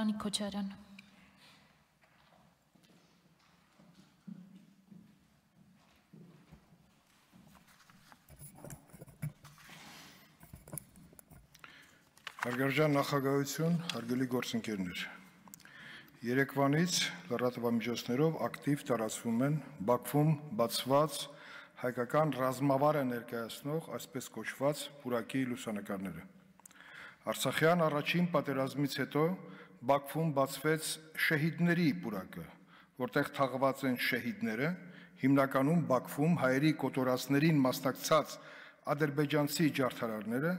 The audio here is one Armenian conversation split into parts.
Արանիկ Քոչարյան։ Հարգարժան նախագահություն, հարգելի գործընկերներ, երեկվանից լրատվամիջոցներով ակտիվ տարածվում են Բաքվում բացված հայկական ռազմավարը ներկայացնող այսպես կոչված պուրակի լուսանկարները։ Արցախյան առաջին պատերազմից հետո Բաքվում բացվեց շեհիդների պուրակը, որտեղ թաղված են շեհիդները, հիմնականում Բաքվում հայերի կոտորածներին մասնակցած ադրբեջանցի ջարդարարները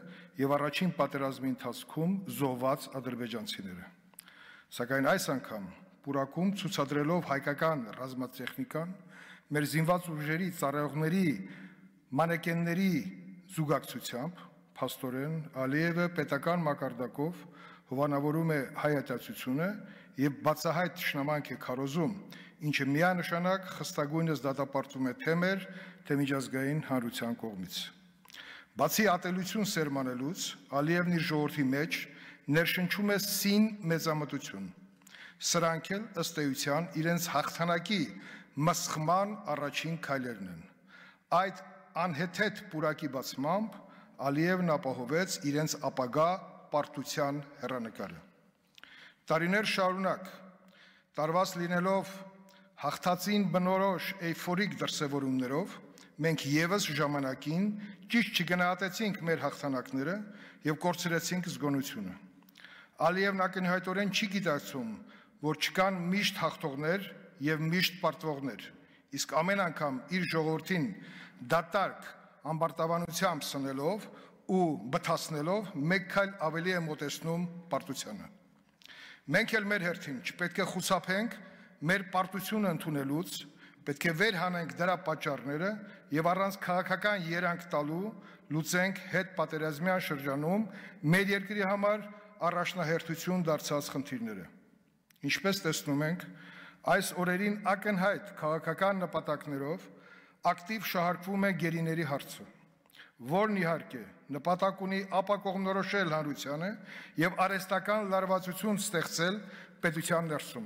եւ առաջին պատերազմի ընթացքում զոհված ադրբեջանցիները։ Սակայն այս անգամ պուրակում ցուցադրելով հայկական ռազմատեխնիկան, մեր զինված ուժերի ծառայողների մանեկենների զուգակցությամբ, փաստորեն Ալիևը պետական մակարդակով հովանավորում է հայատացությունը եւ բացահայտ թշնամանք է քարոզում, ինչը միանշանակ խստագույնս դատապարտում է թե մեր, թե միջազգային հանրության կողմից։ Բացի ատելություն սերմանելուց, Ալիևն իր ժողովրդի մեջ ներշնչում է սին մեծամտություն։ Սրանք էլ ըստ էության իրենց հաղթանակի մսխման առաջին քայլերն են։ Այդ անհեթեթ պուրակի բացմամբ Ալիևն ապահովեց իրենց ապագա պարտության հեռանկարը։ Տարիներ շարունակ տարված լինելով հաղթածին բնորոշ էյֆորիկ դրսևորումներով մենք եւս ժամանակին ճիշտ չգնահատեցինք մեր հաղթանակները եւ կորցրեցինք զգոնությունը։ Ալիևն ակնհայտորեն չի գիտակցում, որ չկան միշտ հաղթողներ եւ միշտ պարտվողներ, իսկ ամեն անգամ իր ժողովրդին դատարկ ամբարտավանությամբ սնելով ու բթացնելով մեկ քայլ ավելի է մոտեցնում պարտությանը։ Մենք էլ մեր հերթին չպետք է խուսափենք մեր պարտությունը ընդունելուց, պետք է վեր հանենք դրա պատճառները եւ առանց քաղաքական երանգ տալու լուծենք հետ պատերազմյան շրջանում մեր երկրի համար առաջնահերթություն դարձած խնդիրները։ Ինչպես տեսնում ենք, այս օրերին ակնհայտ քաղաքական նպատակներով ակտիվ շահարկվում է գերիների հարցը, որն իհարկե նպատակ ունի ապակողմնորոշել հանրությանը եւ արհեստական լարվածություն ստեղծել պետության ներսում։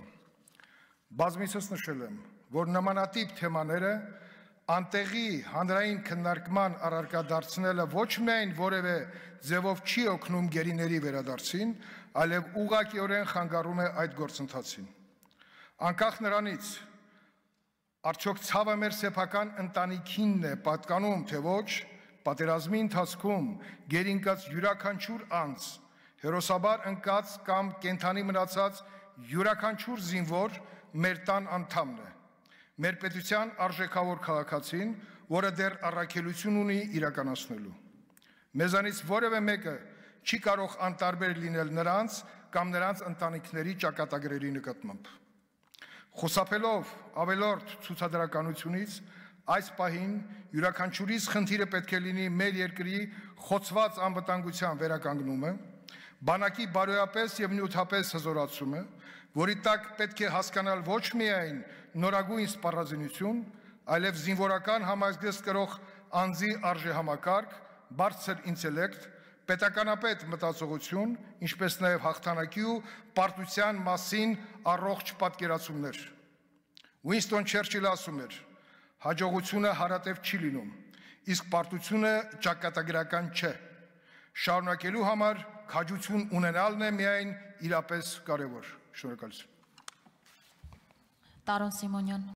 Բազմիցս նշել եմ, որ նմանատիպ թեմաները անտեղի հանրային քննարկման առարկա դարձնելը ոչ միայն որևէ ձևով չի օգնում գերիների վերադարձին, այլև ուղղակիորեն խանգարում է այդ գործընթացին։ Անկախ նրանից, արդյոք ցավը մեր սեփական ընտանիքինն է պատկանում, թե ոչ, պատերազմի ընթացքում գերինկած յուրաքանչյուր անձ, հերոսաբար ընկած կամ կենդանի մնացած յուրաքանչյուր զինվոր մեր տան անդամն է, մեր պետության արժեքավոր քաղաքացին, որը դեռ առաքելություն ունի իրականացնելու։ Մեզանից որևէ մեկը չի կարող անտարբեր լինել նրանց կամ նրանց ընտանիքների ճակատագրերի նկատմամբ։ Խուսափելով ավելորդ ցուցադրականությունից, այս պահին յուրաքանչյուրիս խնդիրը պետք է լինի մեր երկրի խոցված անվտանգության վերականգնումը, բանակի բարոյապես եւ նյութապես հզորացումը, որի տակ պետք է հասկանալ ոչ միայն նորագույն սպառազինություն, այլև զինվորական համազգեստ կրող անձի արժեհամակարգ, բարձր ինտելեկտ, պետականապետ մտածողություն, ինչպես նաև հաղթանակի ու պարտության մասին առողջ պատկերացումներ։ Ուինստոն Չերչիլը ասում էր. հաջողությունը հարատև չի լինում, իսկ պարտությունը ճակատագրական չէ։ Շարունակելու համար քաջություն ունենալն է միայն իրապես կարևոր։ Շնորհակալություն։ Տարոն Սիմոնյան։